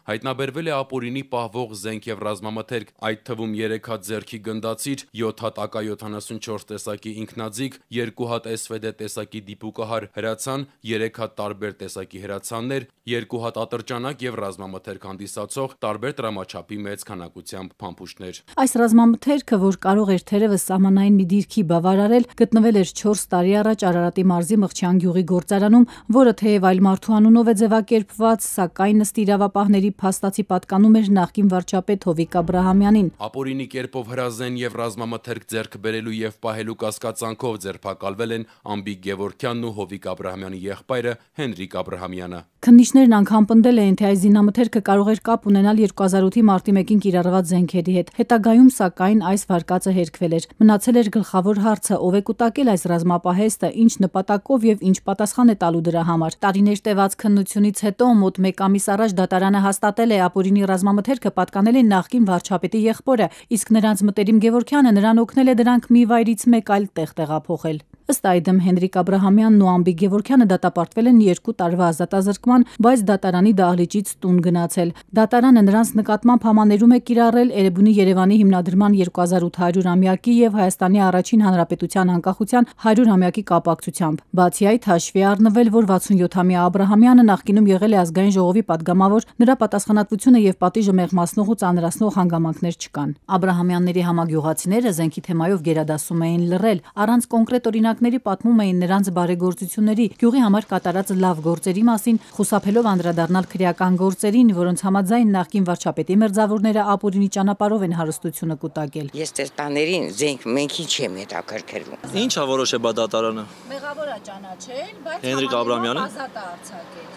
Հայտնաբերվել է ապօրինի պահվող զենք եւ ռազմամթերք, այդ թվում 3 հատ ձեռքի գնդացիր, 7 հատ AK-74 տեսակի ինքնաձիգ, 2 հատ SVD տեսակի դիպուկահար հրացան, 3 հատ տարբեր տեսակի հրացաններ, 2 հատ ատրճանակ եւ ռազմամթերք հանդիսացող տարբեր տրամաչափի մեծ քանակությամբ փամփուշտներ։ Այս ռազմամթերքը, որ կարող էր թերևս սահմանային մի դիրքի բավարարել, գտնվել էր 4 տարի առաջ Արարատի մարզի Մղչյան գյուղի գործարանում, որը թեև այլ մարդու անունով է ձևակերպված, սակայն ըստ իրավապահների փաստացի պատկանում էր նախկին վարչապետ Հովիկ Աբրահամյանին։ Ապօրինի կերպով հրազեն եւ ռազմամթերք ձեռք բերելու եւ պահելու կասկածանքով ձերբակալվել են Ամբիկ Գևորգյանն ու Հովիկ Աբրահամյանի եղբայրը Հենրիկ Աբրահամյանը։ Քննիչներն անգամ պնդել էին, թե այս զինամթերքը կարող էր կապ ունենալ 2008-ի մարտի 1-ին կիրառված զենքերի հետ։ Հետագայում, սակայն, այս վարկածը հերքվել էր։ Մնացել էր գլխավոր հարցը՝ ով է կուտակել այս ռազմապահեստը, ինչ նպատակով եւ ինչ պատասխան է տալու դրա համար։ Տարիներ տևած քննությունից հետո մոտ 1 ամիս առաջ դատարանը հաստատել է ապօրինի ռազմամթերքը պատկանել է նախկին վարչապետի եղբորը, իսկ նրանց մտերիմ Գևորգյանը նրան օգնել է դրանք մի վայրից մեկ այլ տեղ տեղափոխել։ Ըստ այդմ Հենրիկ Աբրահամյանն ու Ամբիկ Գևորգյանը դատապարտվել են 2 տարվա ազատազրկման, բայց դատարանի դահլիճից տուն գնացել։ Դատարանը նրանց նկատմամբ համաներում է կիրառել Էրեբունի Երևանի հիմնադրման 2800-ամյակի եւ Հայաստանի առաջին հանրապետության անկախության 100-ամյակի կապակցությամբ։ Բացի այդ, հաշվի առնվել, որ 67-ամյա Աբրահամյանը նախկինում եղել է ազգային ժողովի падգամավոր, նրա պատասխանատվությունը եւ պատիժը մեղմացնող ու ծանրացնող հանգամանքներ չկան։ Աբրահամյանների համագյուղացիները զենքի թեմայով գերադասում էին լռել, առանց կոնկրետ օրինակների պատմում էին նրանց բարեգործությունների, գյուղի համար կատարած լավ գործերի մասին, խուսափելով անդրադառնալ քրեական գործերին, որոնց համաձայն նախկին վարչապետի մերձավորները ապօրինի ճանապարհով են հարստությունը կուտակել։ Ես տերտաներին զենք մենքին չեմ հետաքրքրվում։ Ինչա որոշե բա դատարանը։ Մեղավոր է ճանաչել, բայց Հենրիկ Աբրահամյանը ազատ է արձակել։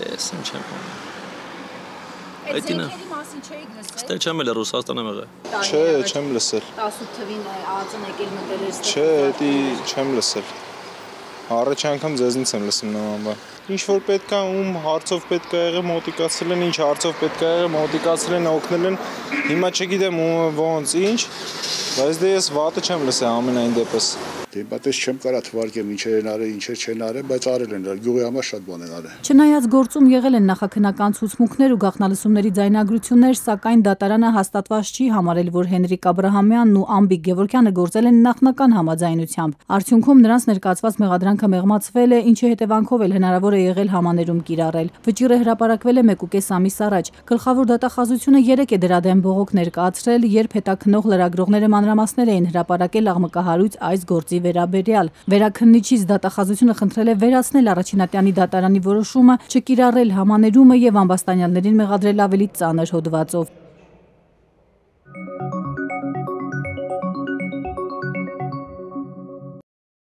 Դες ինչ եմ։ Այդ զենքերի մասին չէիք լսել։ Ստե չեմ էլ Ռուսաստանը եղել։ Չէ, չեմ լսել։ 18 թվին ԱԱԾ-ն եկել մտել էր։ Չէ, դա չեմ լսել։ Առաջ անգամ ձեզնից եմ լսում նման բան։ Ինչ որ պետք է ում հարցով պետք է եղել մոտիկացել են, ինչ հարցով պետք է եղել մոտիկացել են, օգնել են։ Հիմա չգիտեմ ոնց ինչ, բայց դե ես վատը չեմ լսել ամենայն դեպս։ Դե բայց չեմ կարա թվարկեմ ինչեր են արել, ինչեր չեն արել, բայց արել են, գյուղի համար շատ բան են արել։ Չնայած գործում եղել են նախաքննական ցուցմունքներ ու գաղտնալսումների ձայնագրություններ, սակայն դատարանը հաստատված չի համարել, որ Հենրիկ Աբրահամյանն ու Ամբիկ Գևորգյանը գործել են նախնական համաձայնությամբ։ Արդյունքում նրանց ներկայացված մեղադրանքը մեղմացվել է, ինչի հետևանքով էլ հնարավոր է եղել համաներում կիրառել։ Վճիռը հրապարակվել է 1.5 ամիս առաջ։ Գլխավոր դատախազությունը 3 է դրա դեմ բողոք ներկայացրել, երբ հետաքննող լրագրողները մանրամասներ էին հրապարակել աղմկահարույց այս գործի վերաբերյալ։ Վերաքննիչից դատախազությունը խնդրել է վերացնել առաջինատյանի դատարանի որոշումը չկիրառել համաներումը եւ ամբաստանյալներին մեղադրել ավելի ծանր հոդվածով։